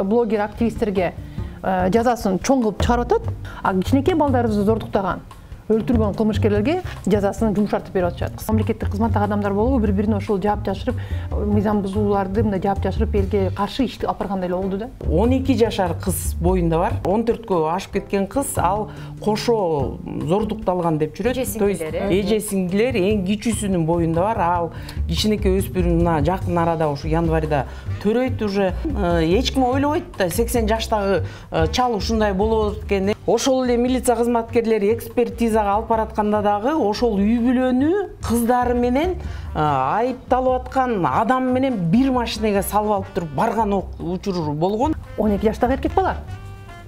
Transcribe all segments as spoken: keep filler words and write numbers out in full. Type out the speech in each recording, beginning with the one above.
Блогер активисттерге жазасын чоң кылып чыгарып атат, а кичинекей балдарды зордуктаган, өлтүргөн кылмышкерлерге жазасын жумшартып берип атышат. Мамлекеттик кызматтагы адамдар болобу бири-бирине ошол жаап жашырып, мыйзам бузууларды мындай жаап жашырып элге каршы ишти алып баргандай эле болду да. он эки жашар кыз боюнда бар. он төрткө ашып кеткен кыз ал кошо зордукталган деп жүрөт. То есть эже сиңдилер эң кичүүсүнүн боюнда бар. Ал кичинекей өспүрүм мына жакын арада ушу январда төрөйт уже. Эч ким ойлобойт да сексен жаштагы чал ушундай болот экен. Ошол эле милиция кызматкерлери экспертизага алып баратканда дагы ошол үй бүлөнү кыздары менен айыпталып аткан адам менен бир машинеге салып алып туруп барган учуру болгон. он эки жаштагы эркек бала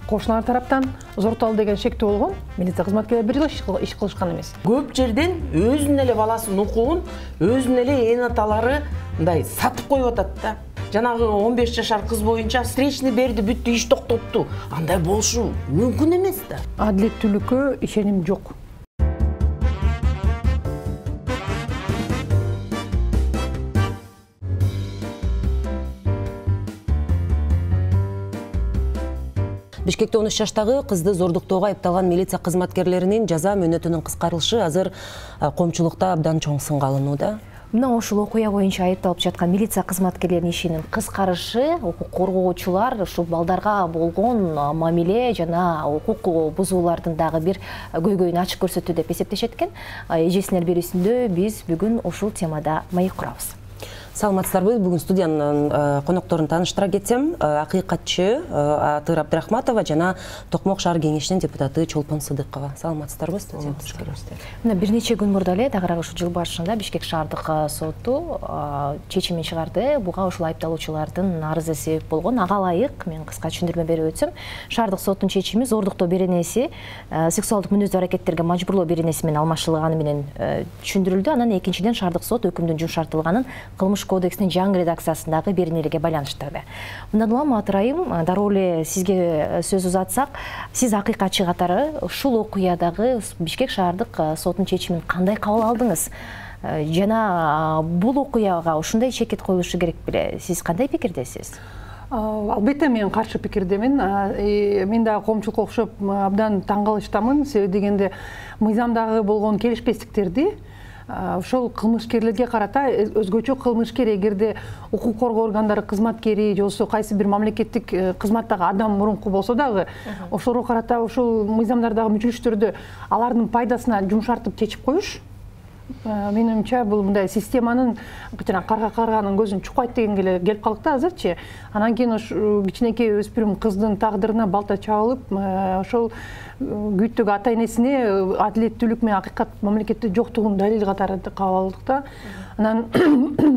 кошуналар тараптан зоротолду деген шектүү болгон. Милиция кызматкерлери бир жолу иш кылышкан эмес. Көп жерден өзүнүн эле баласынын укугун өзүнүн эле эн аталары мындай сатып коюп атат да. Жанагы он беш жашар кыз боюнча встречный берди, бүттү, иш токтотту. Андай болушу мүмкүн эмес да. Адилеттүүлүккө ишеним жок. Бишкекте он үч жаштагы кызды зордуктоого айыпталган милиция кызматкерлеринин жаза мөөнөтүнүн кыскарылышы азыр коомчулукта абдан чоң сынга алынууда. Мына ошол окуя боюнча айыпталып жаткан милиция кызматкерлеринин ишинин кыскарышы укук коргоочулар ушул балдарга болгон мамиле жана укук бузуулардын дагы бир көйгөйүн ачык көрсөттү деп эсептешет экен. Эжесинер берүүсүндө биз бүгүн ушул темада маек курабыз. Саламатсыздарбы? Бүгүн студиянын конокторун тааныштыра кетсем, акыйкатчы Атыр Абдрахматова жана Токмок шаар кеңешинин депутаты Чолпон Сыдыкова. Саламатсыздарбы? Мына бир нече күн мурда эле дагы ушул жыл башында Бишкек шаардык соту чечимин чыгарды. Буга ушул айыпталуучулардын арызы себеп болгон. Ага ылайык мен кыска түшүндүрмө берип өтсөм, шаардык соттун чечими зордуктоо беренеси сексуалдык мүнөздүү аракеттерге мажбурлоо беренеси менен алмаштырылганы менен түшүндүрүлдү. Анан экинчиден шаардык сот өкүмдүн жумшартылганын кылмыш кодекстин жаңы редакциясындагы беренелерге байланыштырды. Мындан улам Атырайым, дароо эле сизге сөз узатсак, сиз акыйкатчы катары ушул окуядагы Бишкек шаардык сотунун чечимин кандай кабыл алдыңыз? Жана бул окуяга ушундай чекит коюлушу керек беле? Сиз кандай пикирдесиз? Албетте мен каршы пикирдемин. Мен дагы коомчулукка окшоп абдан таң калыштамын. Себеби дегенде мыйзамдагы болгон келишпестиктерди ошол кылмышкерлерге карата өзгөчө кылмышкер эгерде укук коргоо органдары кызматкери же болбосо кайсы бир мамлекеттик кызматтагы адам мурунку болсо дагы ошолорго карата ошол мыйзамдардагы мүчүлүштөрдү алардын пайдасына жумшартып чечип коюш менимче бул мындай системанын жана карга карганын көзүн чукпайт дегенге эле келип калдык да азырчы. Анан кийин ошо кичинекей өспүрүм кыздын тагдырына балта чабылып, ошол күйттөгү ата энесине адилеттүүлүк менен акыйкат мамлекетте жоктугун далил катары кабыл алдык да. Анан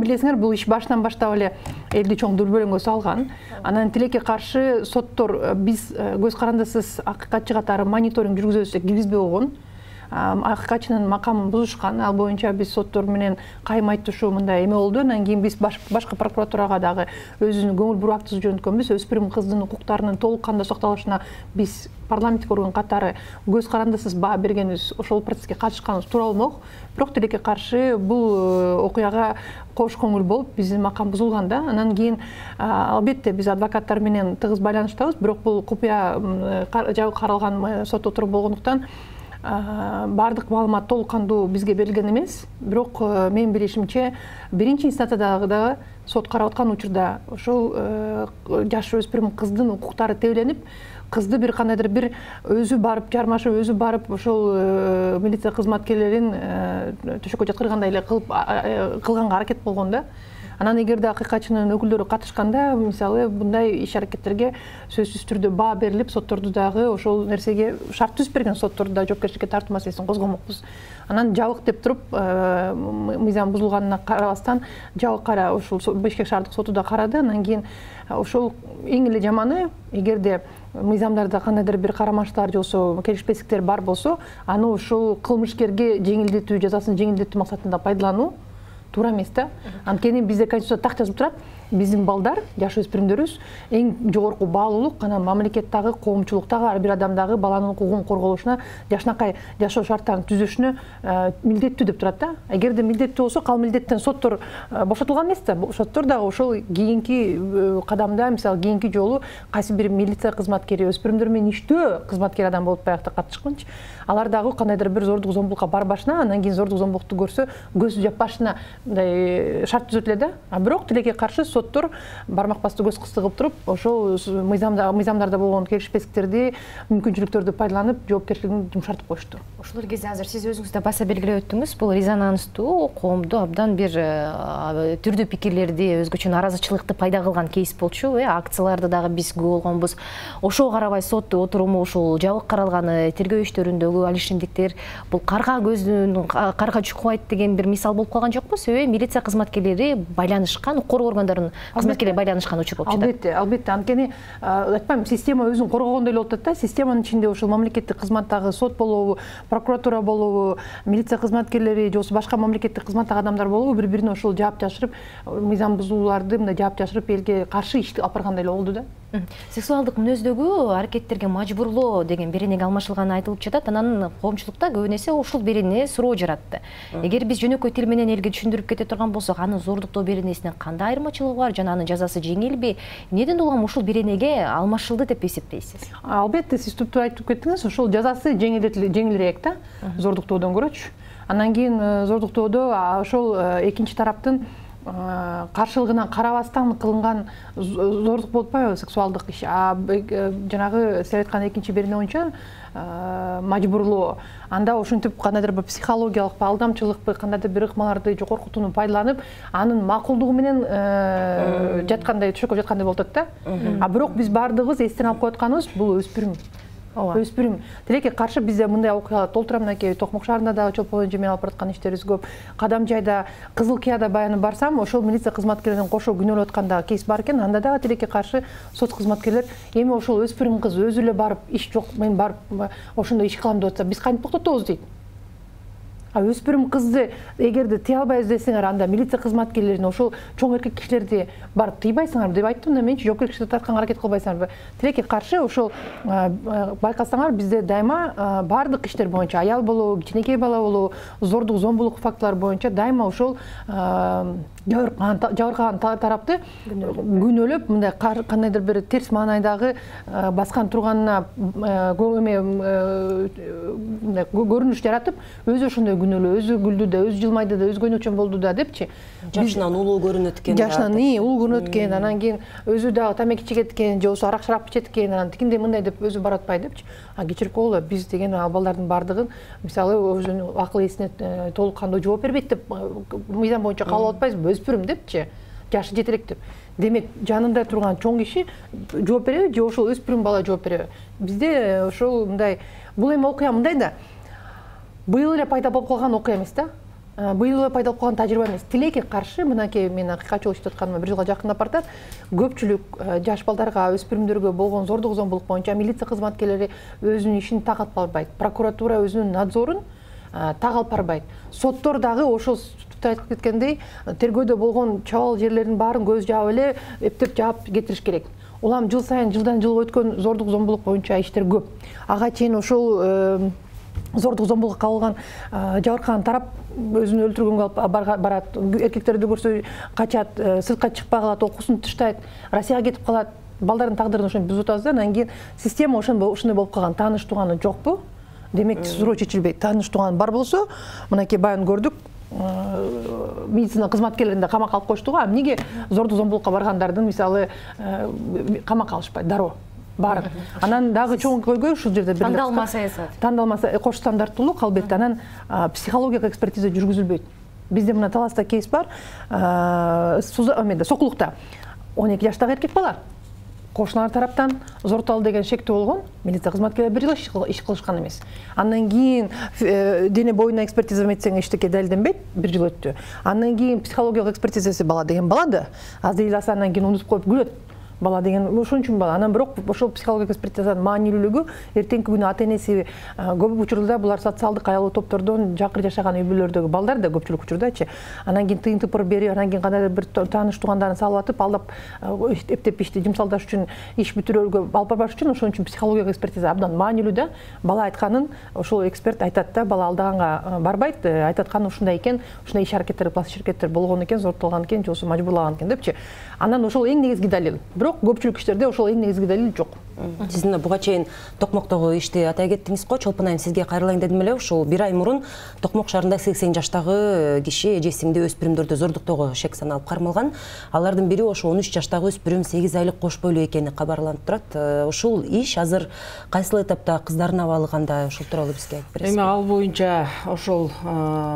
билесиңер, бул иш башынан баштап эле элди чоң дүрбөлөңгө салган. Анан тилекке каршы соттор биз көз карандысыз акыйкатчы катары мониторинг жүргүзөбүз деп киргизбей койгон. Акыйкатчынын макамын бузушкан. Ал боюнча биз соттор менен кайым айтышуу мындай эме болду. Анан кийин биз башкы прокуратурага дагы өзүнүн көңүл буруу актысын жөнөткөнбүз. Өспүрүм кыздын укуктарынын толук кандуу сакталышына биз парламенттик орган катары көз карандысыз баа бергенибиз, ошол процесске катышканыбыз туура болмок. Бирок тилекке каршы бул окуяга кош көңүл болуп биздин макам бузулган да. Анан кийин албетте биз адвокаттар менен тыгыз байланыштабыз. Бирок бул купуя жабык каралган сот отуруп болгондуктан бардык маалымат толук кандуу бизге берилген эмес. Бирок менин билишимче биринчи инстанцияда дагы сот карап аткан учурда ошол жаш өспүрүм кыздын укуктары тебеленип, кызды бир кандайдыр бир өзү барып жармашып, өзү барып ошол милиция кызматкерлерин төшөккө жаткыргандай эле кылып кылганга аракет болгон да. Анан эгерде акыйкатчынын өкүлдөрү катышканда, мисалы, мындай иш аракеттерге сөзсүз түрдө баа берилип, сотторду дагы ошол нерсеге шарт түзүп берген сотторду да жоопкерчиликке тартуу маселесин козгомокпуз. Анан жабык деп туруп, мыйзам бузулганына карабастан, жабык кара ушул Бишкек шаардык соту да карады. Анан кийин ошол эң эле жаманы, эгерде мыйзамдарда кандайдыр бир карамаштар же болбосо келишпестиктер бар болсо, аны ушул кылмышкерге жеңилдетүү, жазасын жеңилдетүү максатында пайдалануу туура эмес да. Анткени бизде конституцияда так жазып турат, биздин балдар, жаш өспүрүмдөрүбүз эң жогорку баалуулук анан мамлекеттагы, коомчулуктагы, ар бир адамдагы баланын укугун корголушуна, жакшынакай жашоо шарттарын түзүшүнө милдеттүү деп турат да. Эгерде милдеттүү болсо, ал милдеттен соттор бошотулган эмес да. Соттор дагы ошол кийинки кадамда, мисалы кийинки жолу кайсы бир милиция кызматкери өспүрүмдөр менен иштөө кызматкер адам болуп баягы катышканчы, алар дагы кандайдыр бир зордук зомбулукка барбашына, анан кийин зордук зомбулукту көрсө көз жаппашына мындай шарт түзөтүлөт да. А бирок тилекке каршы соттор бармак басты көз кысты кылып туруп, ошол мыйзамдарда болгон келишпестиктерди, мүмкүнчүлүктөрдү пайдаланып, жоопкерчилигин жумшартып коюшту. Ошол кезде азыр сиз өзүңүз да баса белгилеп өттүңүз, бул резонанстуу, коомду абдан бир түрдүү пикирлерди, өзгөчө наразычылыкты пайда кылган кейс болчу. Акцияларды дагы биз көп болгонбуз. Ошого карабай сот отуруму ушул жабык каралганы, тергөө иштөрүндөгү ал ишемдиктер бул карга көздүн карга чукпайт деген бир мисал болуп калган жокпу? Себеби милиция кызматкерлери байланышкан, укук органдарынын кызматкерлери байланышкан учур болуп жатат. Албетте, албетте. Анткени айтпайм, система өзүн коргогондой эле болуп атат да. Системанын ичинде ушул мамлекеттик кызматтагы сот болобу, прокуратура болобу, милиция кызматкерлери же болбосо башка мамлекеттик кызматтагы адамдар болобу, бири-бирине ошол жаап жашырып, мыйзам бузууларды мындай жаап жашырып элге каршы иш алып баргандай эле болду да. Сексуалдык мүнөздөгү аракеттерге мажбурлоо деген беренеге алмашылганы айтылып жатат. Анан коомчулукта көп эсе ушул берене суроо жаратты. Эгер биз жөнөкөй тил менен элге түшүндүрүп кете турган болсок, анын зордуктоо беренесинен кандай айырмачылыгы бар жана анын жазасы жеңилби? Эмнеден улам ушул беренеге алмашылды деп эсептейсиз? Албетте, сиз түптүү айтып кеттиңиз, ошол жазасы жеңилирээк да, зордуктоодон көрөчү. Анан кийин зордуктоодо ошол экинчи тараптын каршылыгынан карабастан кылынган зордук болуп атпайбы, сексуалдык иш. А жанагы сиз айткан экинчи берене боюнча мажбурлоо, анда ошентип кандайдыр бир психологиялык алдамчылыкпы, кандайдыр бир ыкмаларды, коркутууну пайдаланып, анын макулдугу менен жаткандай, түшөккө жаткандай болуп атат да. А бирок биз баардыгыбыз эстен алып коюп атканыбыз бул өспүрүм. Өспүрүм. Тилекке каршы бизде мындай окуялар толтура, мынакей Токмок шаарында дагы чолпон эжемен алып бараткан иштерибиз көп. Кадамжайда, Кызыл Кыяда баяны барсам, ошол милиция кызматкерлерин кошо күнөөлөп атканда кейс бар экен. Анда дагы тилекке каршы соц кызматкерлер эми ошол өспүрүм кыз өзү эле барып, иш жок, мен барып ошондой иш кылам деп атса, биз кантип токтотобуз дейт. А өспүрүм кызды эгерде тыя албайбыз десеңер, анда милиция кызматкерлерин ошол чоң эркек кишилерди барып тыйбайсыңарбы деп айттым да, менчи жоопкерчиликти тартканга аракет кылбайсыңарбы. Тилекке каршы ошол байкасаңар, бизде дайыма баардык иштер боюнча, аял болобу, кичинекей бала болобу, зордук, зомбулук фактылары боюнча дайыма ошол жабыркаган тарапты күнөөлөп, мындай кандайдыр бир терс маанайдагы баскан турганына көрүнүш жаратып, өзү ошондой күнөөлөө, өзү күлдү да, өзү жылмайды да, өзү көйнөкчөн болду да депчи. Жашынан улуу көрүнөт экен. Жашынан улуу көрүнөт экен, анан кийин өзү дагы тамеки чегет экен, же болбосо арак шарап ичет экен, анан тигиндей мындай деп өзү баратпай депчи. А кечирип койгула, биз деген балдардын баардыгын мисалы өзүнүн акыл эсине толук кандуу жооп бербейт деп мыйзам боюнча кабыл алып атпайбызбы, өспүрүм депчи, жашы жете элек деп. Демек, жанында турган чоң киши жооп береби же ошол өспүрүм бала жооп береби? Бизде ошол мындай, бул эми окуя мындай да. Быйыл эле пайда болуп калган окуя эмес да. Быйыл эле пайда болуп калган тажрыйба эмес. Тилекке каршы, мынакей мен акыйкатчыл иштеп атканыма бир жылга жакындап бартат. Көпчүлүк жаш балдарга, өспүрүмдөргө болгон зордук, зомбулук боюнча милиция кызматкерлери өзүнүн ишин так алып барбайт. Прокуратура өзүнүн надзорун так алып барбайт. Соттор дагы ошол айтып кеткендей, тергөөдө болгон чабал жерлердин баарын көз жаап эле эптеп жаап кетириш керек. Улам жыл сайын, жылдан жылга өткөн зордук, зомбулук боюнча иштер көп. Ага чейин ошол зордук, зомбулукка кабылган жабыркаган тарап өзүн өлтүргөнгө алып барат, эркектерди көрсө качат, сыртка чыкпай калат, окуусун таштайт, Россияга кетип калат. Балдардын тагдырын ошентип бузуп атабыз да. Анан кийин система ошондой болуп калган. Тааныш тууганы жокпу? Демек, суроо чечилбейт. Тааныш тууган бар болсо, мынакей баян көрдүк, медицина кызматкерлеринде камакка алып коюшту го. А эмнеге зордук, зомбулукка баргандардын мисалы камакка алышпайт, дароо баарын. Анан дагы чоң көйгөй ушул жерде бир тандалма саясат. Тандалма кош стандарттуулук, албетте. Анан психологиялык экспертиза жүргүзүлбөйт. Бизде мына Таласта кейс бар, Сокулукта он эки жаштагы эркек бала кошуналар тараптан зорталды деген шектөө болгон, милиция кызматкерлери бир жыл иш кылышкан эмес. Андан кийин дене боюна экспертиза метсең эчтеке далилденбейт, бир жыл өттү. Андан кийин психологиялык экспертизасы бала деген бала да азыр эле андан кийин унутуп коюп күлөт. бала деген ошон үчүн бала. Анан бирок ошол психологиялык экспертизанын маанилүүлүгү эртеңки күнү ата энеси көп учурда булар социалдык аялуу топтордон жакын жашаган үй бүлөлөрдөгү балдар да көпчүлүк учурдачы. Анан кийин тыйын тыпыр берип, анан кийин кандайдыр бир тааныш туугандарын салып атып, алдап эптеп ишти жумсалдаш үчүн, иш бүтүрүүгө алып барбаш үчүн ошон үчүн психологиялык экспертиза абдан маанилүү да. Бала айтканын ошол эксперт айтат да, бала алдаганга барбайт, айтатканы ушундай экен, ушундай иш аракеттер, пластик аракеттер болгон экен, зорттолгон экен, же болбосо мажбурлаган экен депчи. Анан ошол эң негизги далил. Бирок көпчүлүк иштерде ошол эң негизги далил жок. Сиздин буга чейин токмоктогу ишти атай кеттиңиз го, Чолпон айым сизге кайрылайын дедим эле. Ушул бир ай мурун Токмок шаарында сексен жаштагы киши эжесиңди өспүрүмдөрдү зордуктоого шек саналып кармалган. Алардын бири ошо он үч жаштагы өспүрүм сегиз айлык кош бойлуу экени кабарланып турат. Ушул иш азыр кайсыл этапта, кыздардын абалы кандай? Ошол тууралуу бизге айтып бересизби? Эми ал боюнча ошол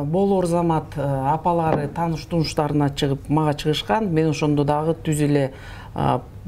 болор замат апалары тааныш тунуштарына чыгып мага чыгышкан. Мен ошондо дагы түз эле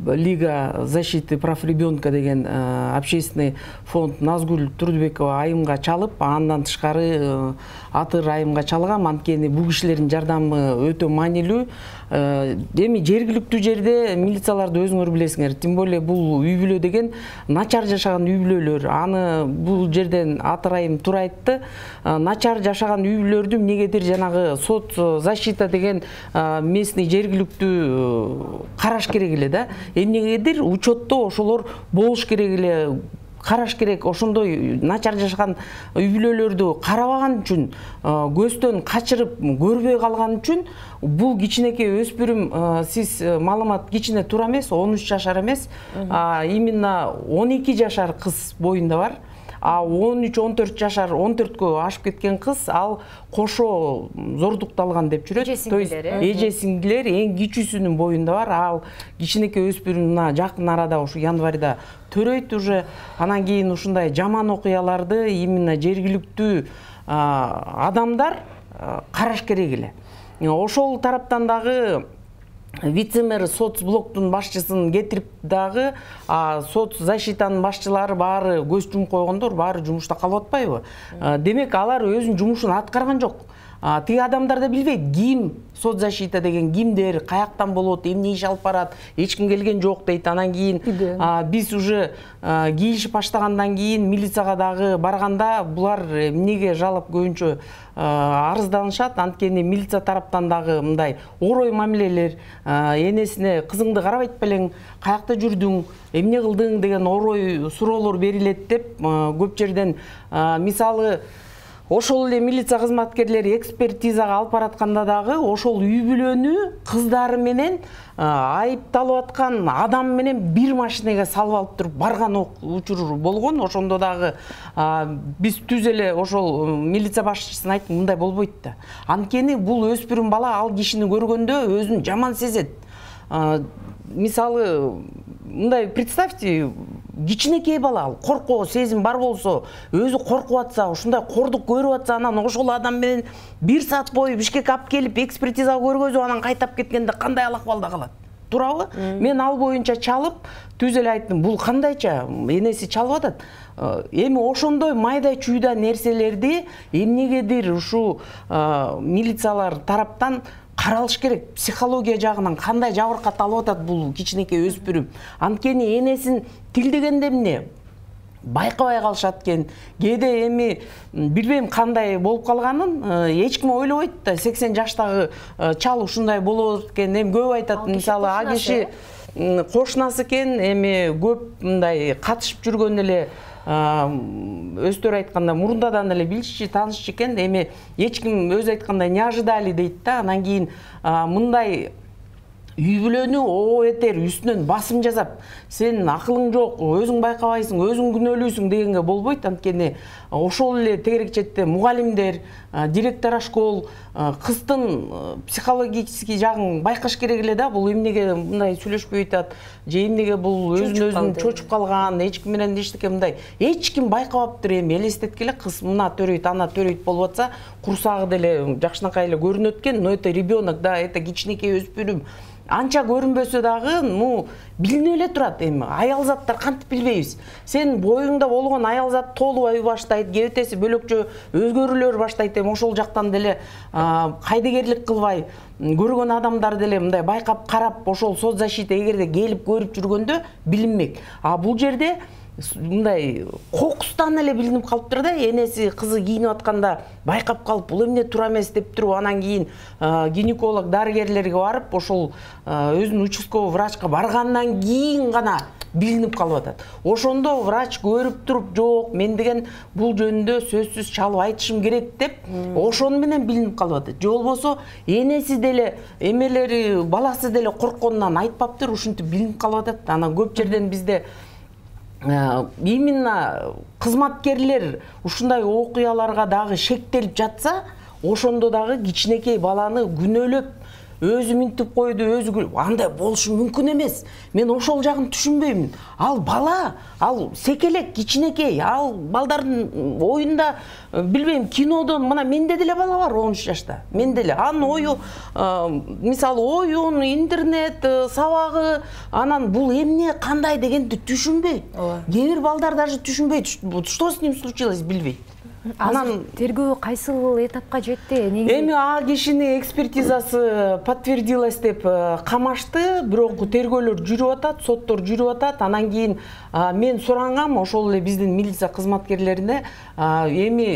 Лига защиты прав ребенка деген общественный фонд Назгүл Турдубекова айымга чалып, андан тышкары Атыр айымга чалгам. Анткени бул кишилердин жардамы өтө маанилүү. Эми жергиликтүү жерде милицияларды өзүңөр билесиңер, тем более бул үй бүлө деген начар жашаган үй бүлөлөр. Аны бул жерден Атыр айым туура айтты. Начар жашаган үй бүлөлөрдү эмнегедир жанагы соц защита деген местный жергиликтүү караш керек эле да. Эмнегедир учетто ошолор болуш керек эле, караш керек. Ошондой начар жашаган үй бүлөлөрдү карабаган үчүн, көздөн качырып көрбөй калган үчүн бул кичинекей өспүрүм, сиз маалымат кичине туура эмес, он үч жашар эмес, именно он эки жашар кыз боюнда бар. А он үч он төрт жашар, он төрткө ашып кеткен кыз ал кошо зордукталган деп жүрөт. То есть эже сиңдилер эң кичүүсүнүн боюнда бар. Ал кичинекей өспүрүм мына жакын арада ушу январда төрөйт уже. Анан кийин ушундай жаман окуяларды именно жергиликтүү адамдар караш керек эле. Ошол тараптан дагы вице-мэр соцблоктун башчысын кетирип дагы соцзащитанын башчылары баары көз жумуп койгондор, баары жумушта калып атпайбы? Демек алар өзүнүн жумушун аткарган жок. Тиги адамдар да билбейт, ким соцзащита деген кимдер, каяктан болот, эмне иш алып барат, эч ким келген жок дейт. Анан кийин биз уже кийишип баштагандан кийин милицияга дагы барганда булар эмнеге жалап көбүнчө арызданышат. Анткени милиция тараптан дагы мындай орой мамилелер, энесине кызыңды карабайт белең, каякта жүрдүң, эмне кылдың деген орой суроолор берилет деп көп жерден, мисалы ошол эле милиция кызматкерлери экспертизага алып баратканда дагы ошол үй бүлөнү кыздары менен айыпталып аткан адам менен бир машинеге салып алып туруп барган учур болгон. Ошондо дагы биз түз эле ошол милиция башчысына айттым, мындай болбойт да. Анткени бул өспүрүм бала ал кишини көргөндө өзүн жаман сезет. Мисалы мындай представьте, кичинекей бала, ал коркуу сезим бар болсо, өзү коркуп атса, ушундай кордук көрүп атса, анан ошол адам менен бир саат бою Бишкекке алып келип экспертизага көргөзүп, анан кайтап кеткенде кандай алакыбалда калат? Туурабы? Мен ал боюнча чалып, түз эле айттым, бул кандайча энеси чалып атат. Эми ошондой майда чүйда нерселерди эмнегедир ушу милициялар тараптан каралыш керек. Психология жагынан кандай жабыркат алып атат бул кичинекей өспүрүм. Анткени энесин тилдегенде эмне байкабай калышат экен. Кээде эми билбейм кандай болуп калганын, эч ким ойлобойт да. сексен жаштагы чал ушундай болот экен. Эми көп айтат, мисалы а киши кошунасы экен, эми көп мындай катышып жүргөн эле, өздөрү айтканда мурундадан эле билишчи, таанышчы экен. Эми эч ким өзү айткандай не ожидали дейт да. Анан кийин мындай үй бүлөнү о этер үстүнөн басым жасап, сен акылың жок, өзүң байкабайсың, өзүң күнөөлүүсүң дегенге болбойт. Анткени ошол эле тегерек четте мугалимдер, директор школ кыздын психологический жагын байкаш керек эле да. Бул эмнеге мындай сүйлөшпөй атат, же эмнеге бул өзүн өзүн чочуп калган, эч ким менен эчтеке мындай эч ким байкабаптыр. Эми элестеткиле, кыз мына төрөйт, ана төрөйт болуп атса, курсагы деле жакшынакай эле көрүнөт экен. Но это ребенок, да, это кичинекей өспүрүм. анча көрүнбөсө дагы, ну, билинип эле турат. Эми аял заттар кантип билбейбиз. Сен боюңда болгон аял зат толубай баштайт, кебетеси бөлөкчө өзгөрүүлөр баштайт. Эми ошол жактан деле кайдыгерлик кылбай көргөн адамдар деле мындай байкап карап, ошол соцзащита эгерде келип көрүп жүргөндө билинмек. А бул жерде мындай кокустан эле билинип калыптыр да, энеси кызы кийинип атканда байкап калып, бул эмне туура эмес деп туруп, анан кийин гинеколог дарыгерлерге барып, ошол өзүнүн участковый врачка баргандан кийин гана билинип калып атат. Ошондо врач көрүп туруп, жок, мен деген бул жөнүндө сөзсүз чалып айтышым керек деп, ошону менен билинип калып атат. Же болбосо энеси деле, эмелери, баласы деле коркконунан айтпаптыр, ушинтип билинип калып атат. Анан көп жерден бизде именно кызматкерлер ушундай окуяларга дагы шектелип жатса, ошондо дагы кичинекей баланы күнөөлөп, өзү минтип койду, өзү андай болушу мүмкүн эмес. Мен ошол жагын түшүнбөймүн. Ал бала, ал секелек, кичинекей, ал балдардын оюнда, билбейм, кинодон, мына менде деле бала бар он үч жашта. Мен деле анын ою, мисалы, оюн, интернет, сабагы, анан бул эмне, кандай дегенди түшүнбөйт. Кээ бир балдар даже түшүнбөйт, что с ним случилось, билбейт. Анан тергөө кайсыл этапка жетти? Эми а кишинин экспертизасы подтвердилось деп камашты, бирок тергөөлөр жүрүп атат, соттор жүрүп атат. Анан кийин мен сурангам ошол эле биздин милиция кызматкерлерине, эми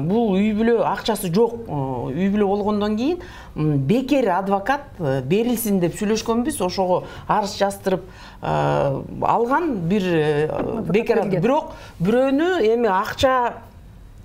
бул үй бүлө акчасы жок, үй бүлө болгондон кийин бекер адвокат берилсин деп сүйлөшкөнбүз. Ошого арыз жаздырып алган бир бекер, бирок бирөөнү эми акча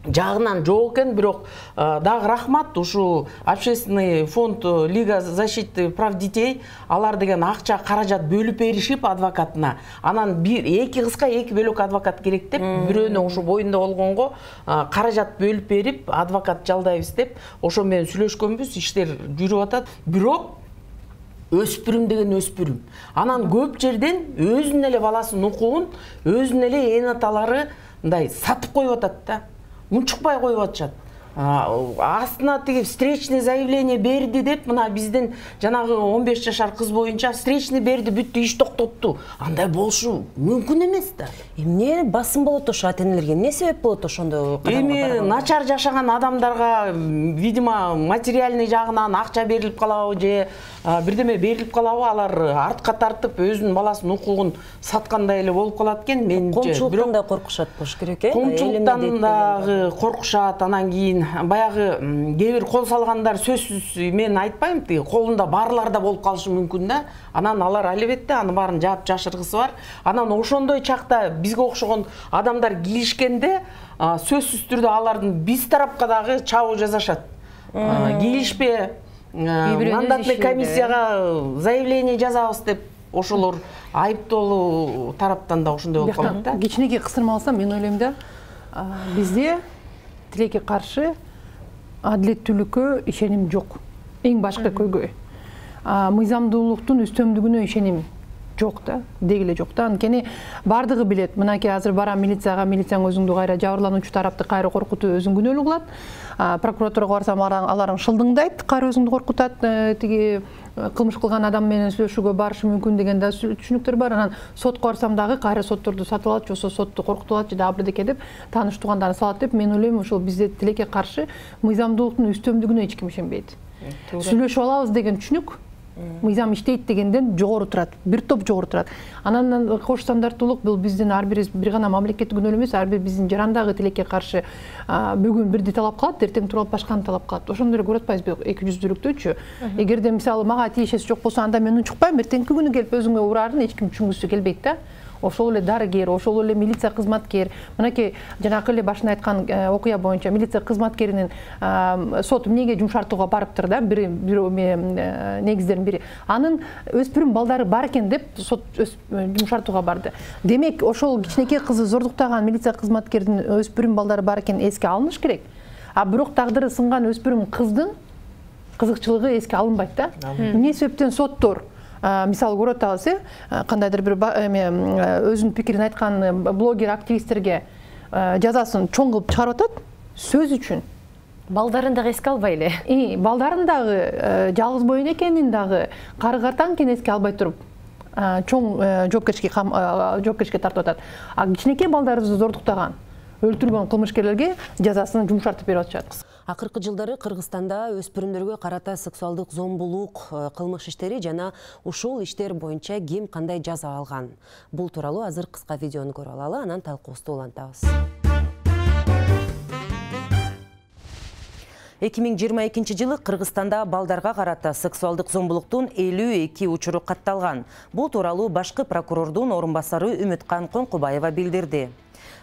жагынан жок экен, бирок дагы рахмат, ушу общественный фонд Лига защиты прав детей, алар деген акча каражат бөлүп беришип адвокатына. Анан бир эки кызга эки бөлөк адвокат керек деп, бирөөнө ушу боюнда болгонго каражат бөлүп берип, адвокат жалдайбыз деп, ошо менен сүйлөшкөнбүз, иштер жүрүп атат. Бирок өспүрүм деген өспүрүм. Анан көп жерден өзүнүн эле баласынын укугун, өзүнүн эле эне аталары мындай сатып коюп атат да. Унчукпай коюп атышат. Астына тиги встречный заявление берди деп, мына биздин жанагы он беш жашар кыз боюнча встречный берди, бүттү, иш токтотту. Андай болушу мүмкүн эмес да. Эмне басым болот ошо ата-энелерге? Эмне себеп болот ошондо? Эми начар жашаган адамдарга, видимо, материальный жагынан акча берилип калабы же бирдеме берилип калабы, алар артка тартып өзүнүн баласынын укугун саткандай эле болуп калат экен. Менимче, коомчулуктан да коркушат болуш керек, э? Коомчулуктан дагы коркушат. Анан кийин баягы кээ бир кол салгандар, сөзсүз мен айтпайм, тиги колунда барлар да болуп калышы мүмкүн да. Анан алар албетте анын баарын жаап жашыргысы бар. Анан ошондой чакта бизге окшогон адамдар килишкенде, сөзсүз түрдө алардын биз тарапка дагы чабуу жасашат. Килишпе, мандатный комиссияга заявление жазабыз деп, ошолор айыптоолуу тараптан да ошондой болуп калат да. Кичинекей кысырма алсам, мен ойлойм да, бизде тилекке каршы адилеттүүлүккө ишеним жок. Эң башкы көйгөй. Мыйзамдуулуктун үстөмдүгүнө ишеним жок да, деги эле жок да. Анткени бардыгы билет. Мынакей азыр барам милицияга, милицияң өзүңдү кайра жабырлануучу тарапты кайра коркутуп өзүң күнөөлүү кылат. Прокуратурага барсам аларың шылдыңдайт, кайра өзүңдү коркутат, тиги кылмыш кылган адам менен сүйлөшүүгө барышы мүмкүн деген да түшүнүктөр бар. Анан сотко барсам дагы кайра сотторду сатып алат, же сотту коркутуп алат, же дагы бирдеке деп тааныш туугандарын салат деп, мен ойлойм ошол бизде тилекке каршы мыйзамдуулуктун үстөмдүгүнө эч ким ишенбейт. Сүйлөшүп алабыз деген түшүнүк мыйзам иштейт дегенден жогору турат, бир топ жогору турат. Анан кош стандарттуулук бул биздин ар бир бир гана мамлекеттик күнөө эмес, ар бир биздин жарандагы тилекке каршы бүгүн бирди талап кылат, эртең туруп башканы талап кылат. Ошондо эле көрүп атпайбызбы эки жүздүүлүктүчү? Эгерде мисалы мага тиешеси жок болсо, анда мен унчукпайм, эртеңки күнү келип өзүңө урарын эч ким түшүнгүсү келбейт да. Ошол эле дарыгер, ошол эле милиция кызматкер, мынакей жанакы эле башында айткан окуя боюнча милиция кызматкеринин сот эмнеге жумшартууга барыптыр да, бир негиздердин бири. Анын өспүрүм балдары бар экен деп сот жумшартууга барды. Демек, ошол кичинекей кызы зордуктаган милиция кызматкердин өспүрүм балдары бар экен эске алыныш керек. А бирок тагдыры сынган өспүрүм кыздын кызыкчылыгы эске алынбайт да. Эмне себептен соттор мисалы көрөт атабыз, кандайдыр бир өзүнүн пикирин айткан блогер, активисттерге жазасын чоң кылып чыгарып атат сөз үчүн. балдарын дагы эске албай эле. Балдарын дагы жалгыз боюн экенин дагы кары картаң экен эске албай туруп чоң жоопкерчиликке тартып атат. А кичинекей балдарыбызды зордуктаган, өлтүргөн кылмышкерлерге жазасын жумшартып берип атышат. Акыркы жылдары Кыргызстанда өспүрүмдөргө карата сексуалдык зомбулук кылмыш иштери жана ушул иштер боюнча ким кандай жаза алган? Бул тууралуу азыр кыска видеону көрүп алалы, анан талкуубузду улантабыз. эки миң жыйырма экинчи жылы Кыргызстанда балдарга карата сексуалдык зомбулуктун элүү эки учуру катталган. Бул тууралуу башкы прокурордун орун басары Үмүткан Коңкубаева билдирди.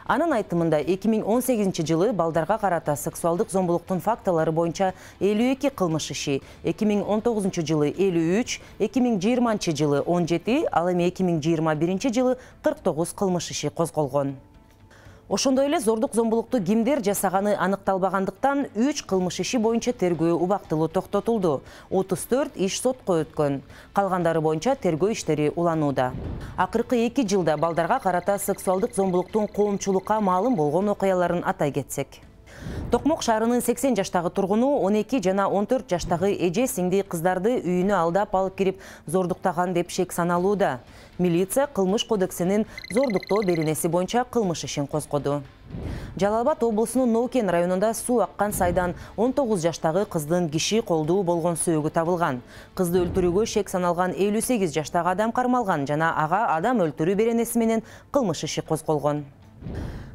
Анын айтымында эки миң он сегизинчи жылы балдарга карата сексуалдык зомбулуктун фактылары боюнча элүү эки кылмыш иши, эки миң он тогузунчу жылы элүү үч, эки миң жыйырманчы жылы он жети, ал эми эки миң жыйырма биринчи жылы кырк тогуз кылмыш иши козголгон. Ошондой эле зордук зомбулукту кимдер жасаганы аныкталбагандыктан үч кылмыш иши боюнча тергөө убактылуу токтотулду. отуз төрт иш сотко өткөн. Калгандары боюнча тергөө иштери уланууда. Акыркы эки жылда балдарга карата сексуалдык зомбулуктун коомчулукка маалым болгон окуяларын атай кетсек. Токмок шаарынын сексен жаштагы тургуну он эки жана он төрт жаштагы эже сиңди кыздарды үйүнө алдап алып кирип зордуктаган деп шек саналууда. Милиция кылмыш кодексинин зордуктоо беренеси боюнча кылмыш ишин козгоду. Жалал Абад облусунун Ноукен районунда суу аккан сайдан он тогуз жаштагы кыздын киши колдуу болгон сөөгү табылган. Кызды өлтүрүүгө шек саналган элүү сегиз жаштагы адам кармалган жана ага адам өлтүрүү беренеси менен кылмыш иши козголгон.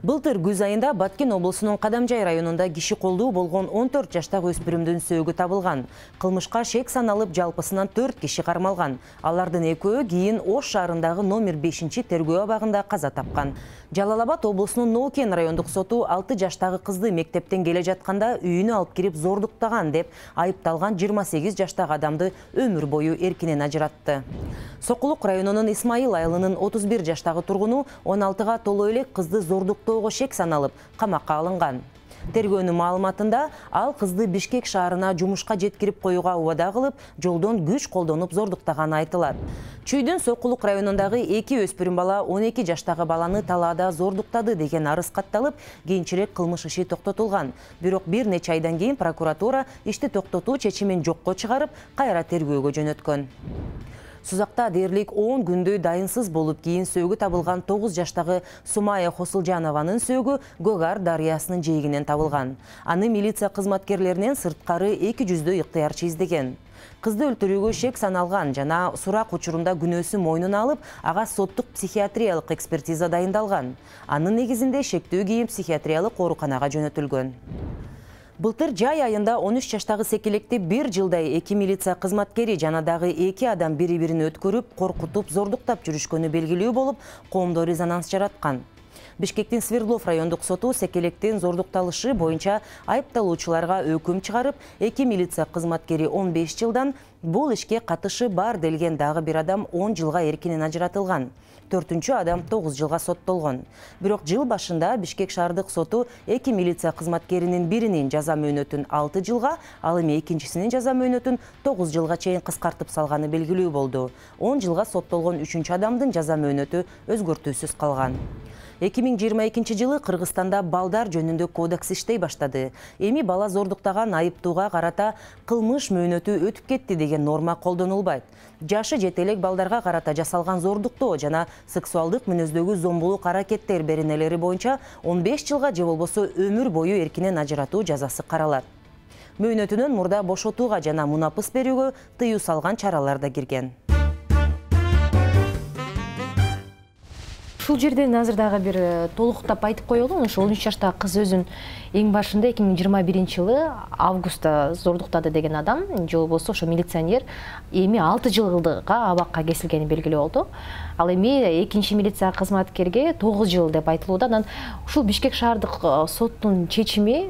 Былтыр күз айында Баткен облусунун Кадамжай районунда киши колдуу болгон он төрт жаштагы өспүрүмдүн сөөгү табылган. Кылмышка шек саналып жалпысынан төрт киши кармалган. Алардын экөө кийин Ош шаарындагы номер бешинчи тергөө абагында каза тапкан. Жалал Абад облусунун Ноукен райондук соту алты жаштагы кызды мектептен келе жатканда үйүнө алып кирип зордуктаган деп айыпталган жыйырма сегиз жаштагы адамды өмүр бою эркинен ажыратты. Сокулук районунун Исмайыл айылынын отуз бир жаштагы тургуну он алтыга толо элек кызды зордуктоого шек саналып камакка алынган. Тергөөнүн маалыматында ал кызды Бишкек шаарына жумушка жеткирип коюуга убада кылып, жолдон күч колдонуп зордуктаганы айтылат. Чүйдүн Сокулук районундагы эки өспүрүм бала он эки жаштагы баланы талаада зордуктады деген арыз катталып, кийинчерээк кылмыш иши токтотулган. Бирок бир нече айдан кийин прокуратура ишти токтотуу чечимин жокко чыгарып, кайра тергөөгө жөнөткөн. Сузакта дээрлик он күндөй дайынсыз болуп, кийин сөөгү табылган тогуз жаштагы Сумая Хосулжанованын сөөгү Гөгар дарыясынын жээгинен табылган. Аны милиция кызматкерлеринен сырткары эки жүздөй ыктыярчы издеген. Кызды өлтүрүүгө шек саналган жана сурак учурунда күнөөсүн мойнуна алып, ага соттук психиатриялык экспертиза дайындалган. Анын негизинде шектүү кийин психиатриялык ооруканага жөнөтүлгөн. Былтыр жай айында он үч жаштагы секелекти бир жылдай эки милиция кызматкери жана дагы эки адам бири-бирин өткөрүп, коркутуп, зордуктап жүрүшкөнү белгилүү болуп, коомдо резонанс жараткан. Бишкектин Свердлов райондук соту секелектин зордукталышы боюнча айыпталуучуларга өкүм чыгарып, эки милиция кызматкери он беш жылдан, бул ишке катышы бар делген дагы бир адам он жылга эркинен ажыратылган. Төртүнчү адам тогуз жылга соттолгон. Бирок жыл башында Бишкек шаардык соту эки милиция кызматкеринин биринин жаза мөөнөтүн алты жылга, ал эми экинчисинин жаза мөөнөтүн тогуз жылга чейин кыскартып салганы белгилүү болду. он жылга соттолгон үчүнчү адамдын жаза мөөнөтү өзгөртүүсүз калган. эки миң жыйырма экинчи жылы Кыргызстанда балдар жөнүндө кодекс иштей баштады. Эми бала зордуктаган айыптууга карата кылмыш мөөнөтү өтүп кетти деген норма колдонулбайт. Жашы жете элек балдарга карата жасалган зордуктоо жана сексуалдык мүнөздөгү зомбулук аракеттер беренелери боюнча он беш жылга же болбосо өмүр бою эркинен ажыратуу жазасы каралат. Мөөнөтүнөн мурда бошотууга жана мунапыс берүүгө тыюу салган чаралар да кирген. Ушул жерден азыр дагы бир толуктап айтып коелу. Ошо он үч жаштагы кыз өзүн эң башында эки миң жыйырма биринчи жылы августта зордуктады деген адам, же болбосо ошо милиционер эми алты жылга абакка кесилгени белгилүү болду. Ал эми экинчи милиция кызматкерге тогуз жыл деп айтылууда. Анан ушул Бишкек шаардык соттун чечими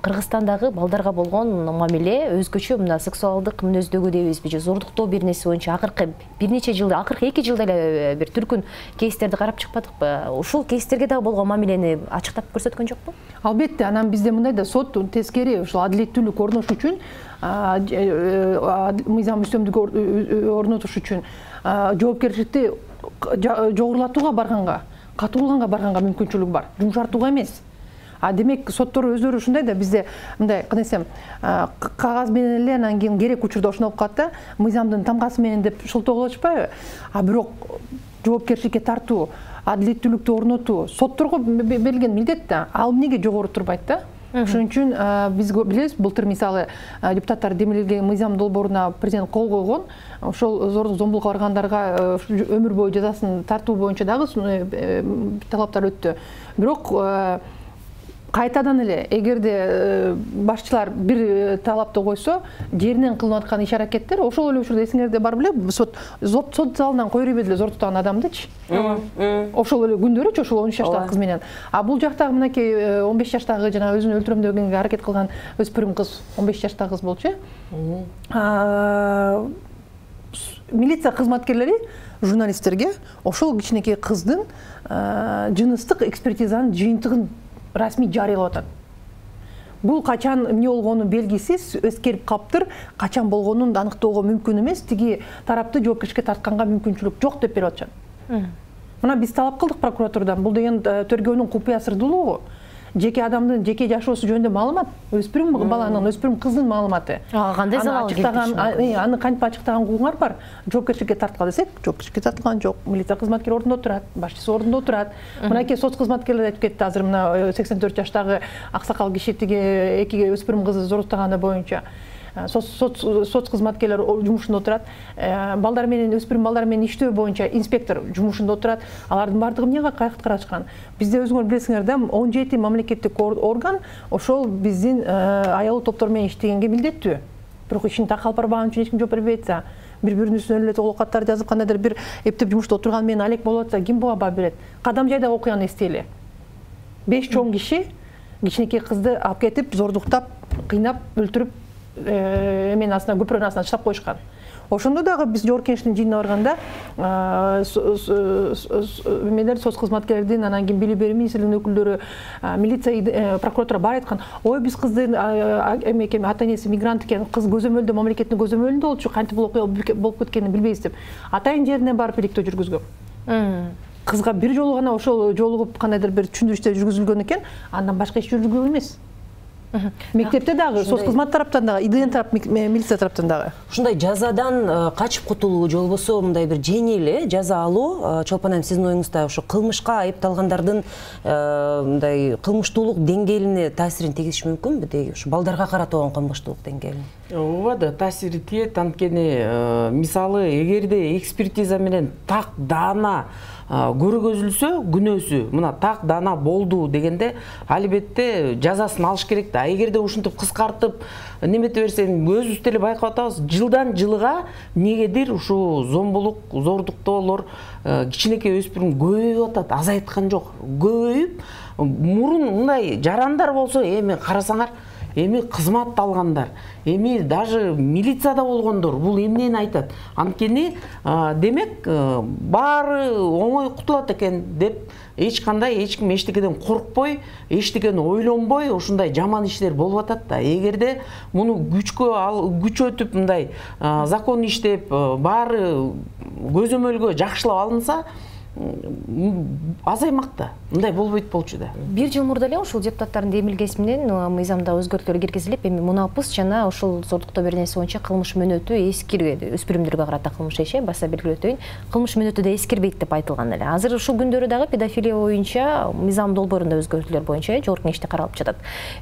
Кыргызстандагы балдарга болгон мамиле өзгөчө мына сексуалдык мүнөздөгү дейбизби, же зордуктоо беренеси боюнча акыркы бир нече жылда, акыркы эки жылда эле бир түркүн кейстерди карап чыкпадыкпы? Ушул кейстерге дагы болгон мамилени ачыктап көрсөткөн жокпу? Албетте, анан бизде мындай да сот тескери ушул адилеттүүлүк орнош үчүн, мыйзам үстөмдүк орнотуш үчүн жоопкерчиликти жогорулатууга барганга, катуулганга барганга мүмкүнчүлүк бар, жумшартууга эмес. А демек соттор өздөрү ушундай да, бизде мындай кандай десем, кагаз менен эле анан кийин керек учурда ошондой болуп калат да, мыйзамдын тамгасы менен деп шылтоого болушпайбы? А бирок жоопкерчиликке тартуу, адилеттүүлүктү орнотуу сотторго берилген милдет да. Ал эмнеге жогору турбайт да? Ошон үчүн биз билебиз, былтыр мисалы депутаттар демилген мыйзам долбооруна президент кол койгон. Ошол зордук зомбулукка баргандарга өмүр бою жазасын тартуу боюнча дагы талаптар өттү. Бирок кайтадан эле эгерде башчылар бир талапты койсо, жеринен кылынып аткан иш аракеттер, ошол эле учурда эсиңерде бар беле, сот сот залынан кое бербеди эле зортуктаган адамдычы. Ошол эле күндөрүчү, ошол он үч жаштагы кыз менен. А бул жактагы мынакей он беш жаштагы жана өзүн өлтүрөм дегенге аракет кылган өспүрүм кыз, он беш жаштагы кыз болчу. Милиция кызматкерлери журналисттерге ошол кичинекей кыздын жыныстык экспертизанын жыйынтыгын расмий жарыялап атат. Бул качан эмне болгону белгисиз, эскерип калыптыр, качан болгонун аныктоого мүмкүн эмес, тиги тарапты жоопкерчиликке тартканга мүмкүнчүлүк жок деп берип атышат. Мына биз талап кылдык прокуратурадан, бул деген тергөөнүн купуя сырдуулугу. Жеке адамдын жеке жашоосу жөнүндө маалымат, өспүрүм баланын, өспүрүм кыздын маалыматы. Кандай залал келтириши мүмкүн? Аны кантип ачыктаган укугуңар бар? Жоопкерчиликке тарткыла десек, жоопкерчиликке тартылган жок. Милиция кызматкери ордунда отурат, башчысы ордунда отурат. Мынакей соц кызматкерлери айтып кетти азыр, мына сексен төрт жаштагы аксакал киши тиги эки өспүрүм кызды зороктоганы боюнча. Соц кызматкерлер жумушунда отурат. Балдар менен, өспүрүм балдар менен иштөө боюнча инспектор жумушунда отурат. Алардын баардыгы эмне карашкан? Бизде өзүңөр билесиңер да, он жети мамлекеттик орган ошол биздин аялуу топтор менен иштегенге милдеттүү. Бирок ишин так алып барбаган үчүн эч ким жооп бербей атса, бири-биринин үстүнө эле толук каттар жазып, кандайдыр бир эптеп жумушта отурган менен алек болуп атса, ким буга баа берет? Кадам жайдагы окуяны эстейли. беш чоң киши кичинекей кызды алып кетип, зордуктап, кыйнап, өлтүрүп, эменин астына, көпүрөнүн астына таштап коюшкан. Ошондо дагы биз жогорку кеңештин жыйынына барганда эмелер соц кызматкерлердин, анан кийин билим берүү министрлигинин өкүлдөрү, милиция, прокуратура бар айткан, ой биз кыздын эме ата энеси мигрант экен, кыз көзөмөлдө, мамлекеттин көзөмөлүндө болчу, кантип бул окуя болуп кеткенин билбейбиз деп. Атайын жеринен барып иликтөө жүргүзгөн. Кызга бир жолу гана ошол жолугуп кандайдыр бир түшүндүрүштөр жүргүзүлгөн экен, андан башка эч жүргүзүлгөн эмес. Мектепте дагы, соц кызмат тараптан дагы, ИДН тарап, милиция тараптан дагы. Ушундай жазадан качып кутулуу же болбосо мындай бир жеңил жаза алуу, Чолпон айым, сиздин оюңузда ошо кылмышка айыпталгандардын мындай кылмыштуулук деңгээлине таасирин тийгизиши мүмкүнбү? Деги ушу балдарга карата болгон кылмыштуулук деңгээлине. Ооба да, таасири тиет. Анткени мисалы эгерде экспертиза менен так даана көргөзүлсө, күнөөсү мына так даана болду дегенде албетте жазасын алыш керек да. Эгерде ушинтип кыскартып немете берсең, өзүбүз деле байкап атабыз, жылдан жылга негедир ушул зомбулук, зордуктоолор, кичинекей өспүрүм көбөйүп атат, азайткан жок. Көбөйүп, мурун мындай жарандар болсо, эми карасаңар, эми кызмат алгандар, эми даже милицияда болгондор бул эмнени айтат? Анткени демек баары оңой кутулат экен деп эч кандай эч ким эчтекеден коркпой, эчтекени ойлонбой ушундай жаман иштер болуп атат да. Эгерде муну күчкө күчөтүп мындай закон иштеп, баары көзөмөлгө жакшылап алынса, азаймак да. Мындай болбойт болчу да. Бир жыл мурда эле ушул депутаттардын демилгеси менен мыйзамда өзгөртүүлөр киргизилип, эми мунапыс жана ушул зордуктоо бир нерсе боюнча кылмыш мөөнөтү эскирбейт. Өспүрүмдөргө карата кылмыш иши баса белгилеп өтөйүн. Кылмыш мөөнөтү да эскирбейт деп айтылган эле. Азыр ушул күндөрү дагы педофилия боюнча мыйзам долбоорунда өзгөртүүлөр боюнча жогорку кеңеште каралып жатат.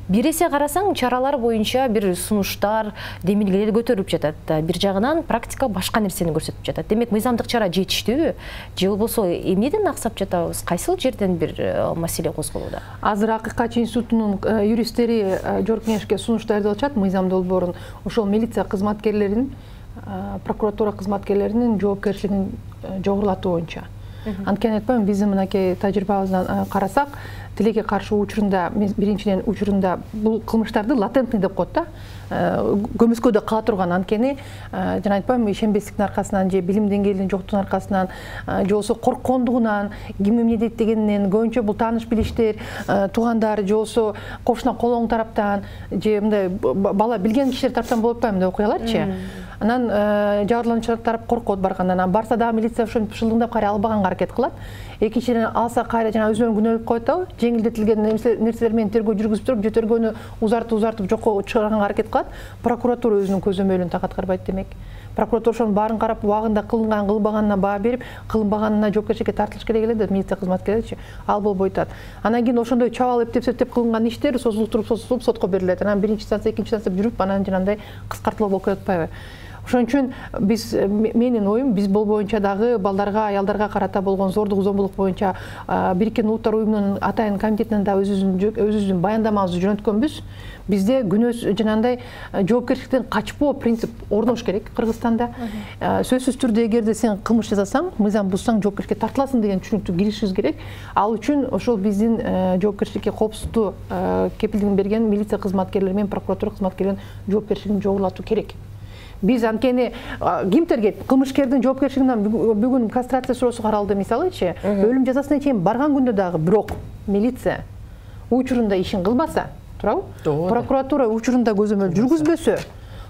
Бир эсе карасаң, чаралар боюнча бир сунуштар, демилгелер көтөрүлүп жатат. Бир жагынан практика башка нерсени көрсөтүп жатат. Демек мыйзамдык чара жетиштүүбү? Же болбосо эмнеден аксап жатабыз? Кайсыл жерден бир маселе козголууда? Азыр Акыйкатчы институтунун юристтери жогорку кеңешке сунуш даярдап атышат, мыйзам долбоорун. Ошол милиция кызматкерлеринин, прокуратура кызматкерлеринин жоопкерчилигин жогорулатуу боюнча. Анткени айтпайбы, биздин мынакей тажрыйбабыздан карасак, тилекке каршы учурунда, биринчиден учурунда бул кылмыштарды латентный деп коет да. Көмүскөдө кала турган, анткени жана айтпайбы, ишенбестиктин аркасынан же билим деңгээлинин жоктугунун аркасынан же болбосо корккондугунан, ким эмне дейт дегенинен, көбүнчө бул тааныш билиштер, туугандар же болбосо кошуна колоң тараптан же мындай бала билген кишилер тараптан болуп атпайбы мындай окуяларчы. анан жабырлануучу тарап коркот баргандан. Анан барса дагы милиция ошентип шылдыңдап кайра албаганга аракет кылат. Экинчиден алса кайра жана өзүнө күнөөлүк коет да, жеңилдетилген нерселер менен тергөө жүргүзүп туруп, же тергөөнү узартып узартып жокко чыгарганга аракет кылат. Прокуратура өзүнүн көзөмөлүн так аткарбайт демек. Прокуратура ошонун баарын карап, убагында кылынган, кылынбаганына баа берип, кылынбаганына жоопкерчиликке тартылыш керек эле деп милиция кызматкерлеричи ал болбой атат. Анан кийин ошондой чабал эптеп-септеп кылынган иштер созулуп туруп, созулуп сотко берилет. Анан биринчи инстанция, экинчи инстанция жүрүп, анан жанагындай кыскартылуу болуп атпайбы? Ошон үчүн биз, менин оюм, биз бул боюнча дагы балдарга, аялдарга карата болгон зордук, зомбулук боюнча Бириккен Улуттар Уюмунун атайын комитетинен да өзүбүздүн баяндамабызды жөнөткөнбүз. Бизде күнөөсүз жанагындай жоопкерчиликтен качпоо принцип орнош керек Кыргызстанда. Сөзсүз түрдө эгерде сен кылмыш жасасаң, мыйзам бузсаң жоопкерчиликке тартыласың деген түшүнүктү киришибиз керек. Ал үчүн ошол биздин жоопкерчиликке коопсуздуу кепилдигин берген милиция кызматкерлери менен прокуратура кызматкерлеринин жоопкерчилигин жогорулатуу керек. Биз анткени ким тергейт? Кылмышкердин жоопкерчилигинен бүгүн кастрация суроосу каралды мисалычы, өлүм жазасына чейин барган күндө дагы бирок милиция учурунда ишин кылбаса, туурабы? Прокуратура учурунда көзөмөл жүргүзбөсө,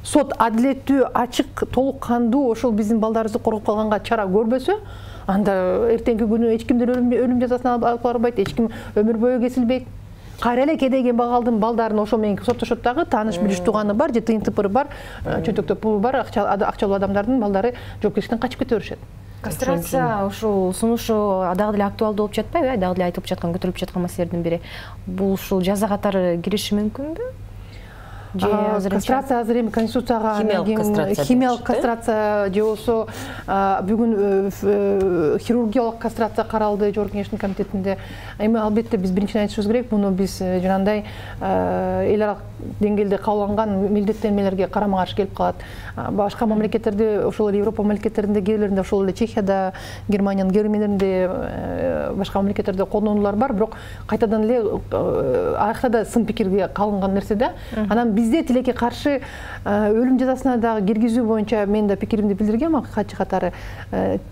сот адилеттүү, ачык, толук кандуу ошол биздин балдарыбызды коргоп калганга чара көрбөсө, анда эртеңки күнү эч кимдин өлүм жазасына алып барбайт, эч ким өмүр бою кесилбейт. Кайра эле кедейген балдын балдарын ошо менен соттошот дагы, тааныш билиш тууганы бар, же тыйын тыпыры бар, чөнтөктө пулу бар, акчалуу адамдардын балдары жоопкерчиликтен качып кете беришет. Кастрация ушул сунушу дагы деле актуалдуу болуп жатпайбы? Дагы деле айтылып жаткан, көтөрүлүп жаткан маселелердин бири. Бул ушул жаза катары кириши мүмкүнбү? Кастрация азыр эми конституцияга химиялык кастрация же болбосо бүгүн хирургиялык кастрация каралды Жогорку Кеңештин комитетинде. Эми албетте биз биринчиден айтышыбыз керек, муну биз жанагындай эл аралык деңгээлде кабыл милдеттенмелерге карама каршы келип калат. Башка мамлекеттерде, ошол эле Европа мамлекеттеринде, кээ бирлеринде, ошол эле Чехияда, Германиянын кээ бир мамлекеттеринде, башка мамлекеттерде колдонуулар бар, бирок кайтадан эле аякта да сын пикирге калынган нерсе да. Анан бизде тилекке каршы өлүм жазасына дагы киргизүү боюнча мен да пикиримди билдиргем качы катары.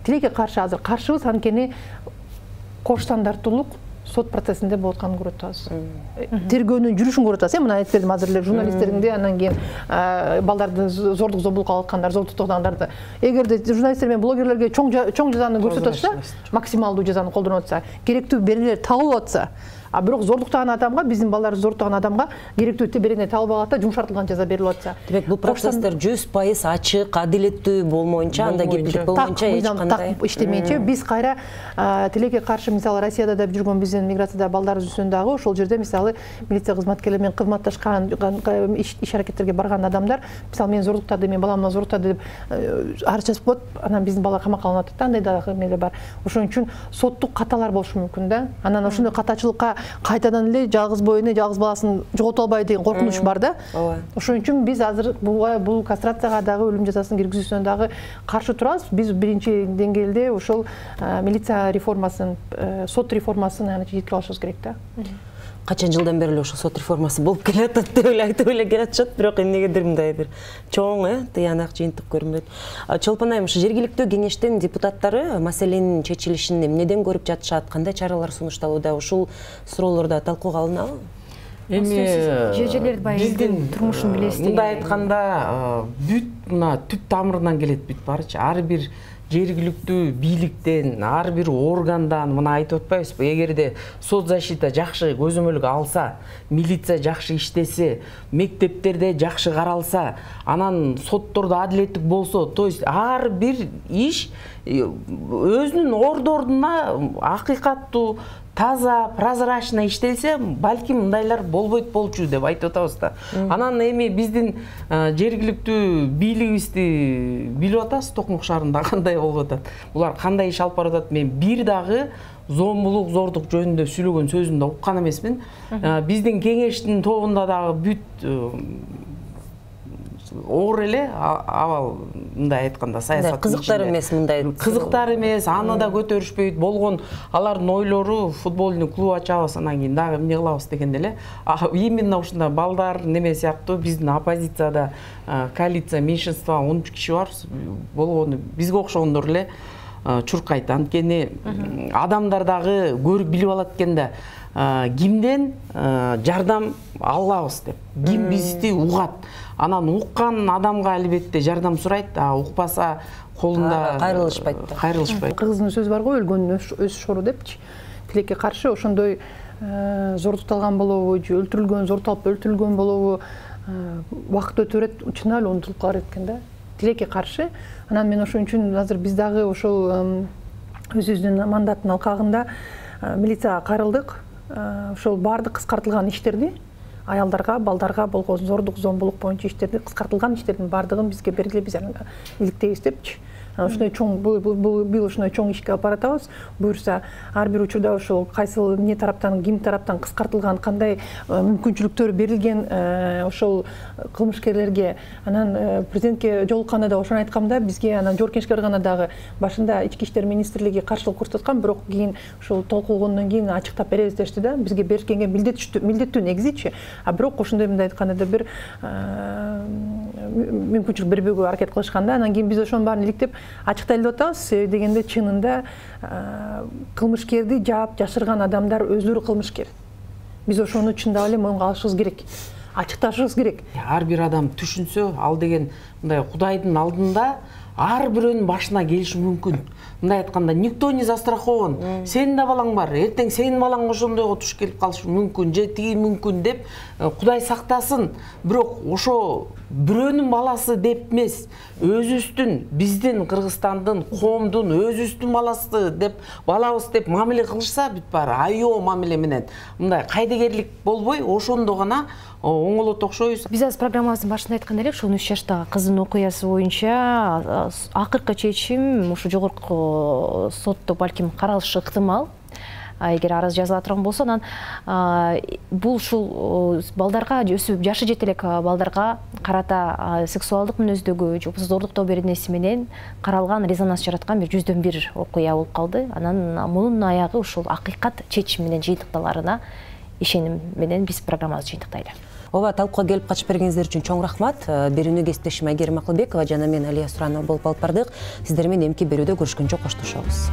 Тилекке каршы азыр каршыбыз, анткени кош стандарттуулук сот процессинде болуп атканын көрүп атабыз. Тергөөнүн жүрүшүн көрүп атабыз. Мен айтып бердим азыр эле журналисттердин де, анан кийин балдарды зордук зомбулукка алгаткандар, зордуктагандарды. Эгерде журналисттер менен блогерлерге чоң чоң жазаны көрсөтүп атса, максималдуу жазаны колдонуп атса, керектүү беренелер табылып атса, а бирок зордуктаган адамга, биздин балдарды зордуктаган адамга керектүү берене табылып алат да, жумшартылган жаза берилип атса. Демек, бул процесстер жүз пайыз ачык, адилеттүү болмоюнча, анда кепилдик болмоюнча эч кандай иштемейинче, биз кайра тилекке каршы, мисалы Россияда да жүргөн биздин миграцияда балдарыбыз үстүнөн дагы ошол жерде мисалы милиция кызматкерлери менен кызматташкан иш аракеттерге барган адамдар, мисалы мен зордуктады, мен баламды зордуктады деп арыз жазып коет, анан биздин балдар камакка алынып атат да, андай дагы эмелер бар. Ошон үчүн соттук каталар болушу мүмкүн да. Анан ошондой катачылыкка кайтадан эле жалгыз бойуна жалгыз баласын жогото албайбы деген коркунуч бар да. Ошон үчүн биз азыр бул кастрацияга дагы, өлүм жазасын киргизүүсүнө дагы каршы турабыз. Биз биринчи деңгээлде ошол милиция реформасын, сот реформасын жеткирип алышыбыз керек да. Качан жылдан бери эле ошол сот реформасы болуп келатат деп эле айтып эле келатышат, бирок эмнегедир мындай бир чоң, э, тыянак жыйынтык көрүнбөйт. Чолпон айым, ушу жергиликтүү кеңештин депутаттары маселенин чечилишин эмнеден көрүп жатышат, кандай чаралар сунушталууда, ушул суроолорду талкууга алынабы? Эми жер жерлерди баягы турмушун билесиз. Мындай айтканда, бүт мына түп тамырынан келет бүт барычы. Ар бир жергиликтүү бийликтен, ар бир органдан мына айтып атпайбызбы, эгерде соцзащита жакшы көзөмөлгө алса, милиция жакшы иштесе, мектептерде жакшы каралса, анан соттордо адилеттик болсо, то есть ар бир иш өзүнүн ордуна акыйкаттуу, таза, прозрачно иштелсе, балким мындайлар болбойт болчу деп айтып атабыз да. Анан эми биздин жергиликтүү бийлигибизди билип атасыз, Токмок шаарында кандай болуп атат. Булар кандай иш алып барып атат. Мен бир дагы зомбулук, зордук жөнүндө сүйлөгөн сөзүн да уккан эмесмин. Биздин кеңештин тобунда дагы бүт оор эле абал, мындай айтканда, саясат кызыктар эмес, мындай кызыктар эмес, аны да көтөрүшпөйт болгон, алардын ойлору футбольный клуб ачабыз, анан кийин дагы эмне кылабыз дегенде эле. Именно ушундай балдар неме сыяктуу биздин оппозицияда коалиция меньшинство он үч киши бар болгону, бизге окшогондор эле чуркайт. Анткени адамдар дагы көрүп билип алат экен да, кимден жардам алабыз деп, ким бизди угат. Анан уккан адамга албетте жардам сурайт, а укпаса колунда кайрылышпайт. Кайрылышпайт. Кыргыздын сөзү бар го, өлгөндүн өз шору депчи. Тилекке каршы ошондой зордукталган болобу же өлтүрүлгөн, зордукталып өлтүрүлгөн болобу, убакыт өтө берет, чынын эле унутулуп калар экен да. Тилекке каршы. Анан мен ошон үчүн азыр биз дагы ошол өзүбүздүн мандаттын алкагында милицияга кайрылдык. Ошол баардык кыскартылган иштерди, аялдарга, балдарга болгон зордук, зомбулук боюнча иштерди, кыскартылган иштердин баардыгын бизге бергиле, биз иликтейбиз депчи. Ошондой чоң бул ошондой чоң ишке алып баратабыз. Буюрса, ар бир учурда ошол кайсыл эмне тараптан, ким тараптан кыскартылган, кандай мүмкүнчүлүктөр берилген ошол кылмышкерлерге. Анан президентке жолукканда да ошону айткам да, бизге анан Жоркенишке барганда дагы башында Ички иштер министрлиги каршылык көрсөткөн, бирок кийин ошол толкулгондон кийин ачыктап беребиз дешти да. Бизге берилгенге милдеттүү негизичи. А бирок ошондой мындай айтканда да бир мүмкүнчүлүк бербөөгө аракет кылышканда, анан кийин биз ошонун баарын иликтеп ачык дайылдап атабыз. Себеби дегенде чынында кылмышкерди жаап жашырган адамдар өздөрү кылмышкер. Биз ошону чындап эле моюнга алышыбыз керек, ачыкташыбыз керек. Ар бир адам түшүнсө, ал деген мындай Кудайдын алдында ар бирөөнүн башына келиши мүмкүн. Мындай айтканда, никто не застрахован. Сенин да балаң бар, эртең сенин балаң ошондойго туш келип калышы мүмкүн, же тиги мүмкүн деп Кудай сактасын. Бирок ошо бирөөнүн баласы деп эмес, өзүбүздүн, биздин Кыргызстандын, коомдун өзүбүздүн баласы деп, балабыз деп мамиле кылышса, бүт баары айоо мамиле менен мындай кайдыгерлик болбой, ошондо гана оңолот окшойбуз. Биз азыр программабыздын башында айткан элек, ошол үч жаштагы кыздын окуясы боюнча акыркы чечим ушу жогорку сотто балким каралышы ыктымал. Эгер арыз жазыла турган болсо, анан бул ушул балдарга, өсүп жашы жете элек балдарга карата сексуалдык мүнөздөгү же зордуктоо беренеси менен каралган, резонанс жараткан бир жүздөн бир окуя болуп калды. Анан мунун аягы ушул акыйкат чечим менен жыйынтыкталарына ишеним менен биз программабызды жыйынтыктайлы. Ооба, талкууга келип катышып бергениңиздер үчүн чоң рахмат. Берүүнү кесиптешим Айгерим Акылбекова жана мен Алия Суранова болуп алып бардык. Сиздер менен эмки берүүдө көрүшкөнчө коштошобуз.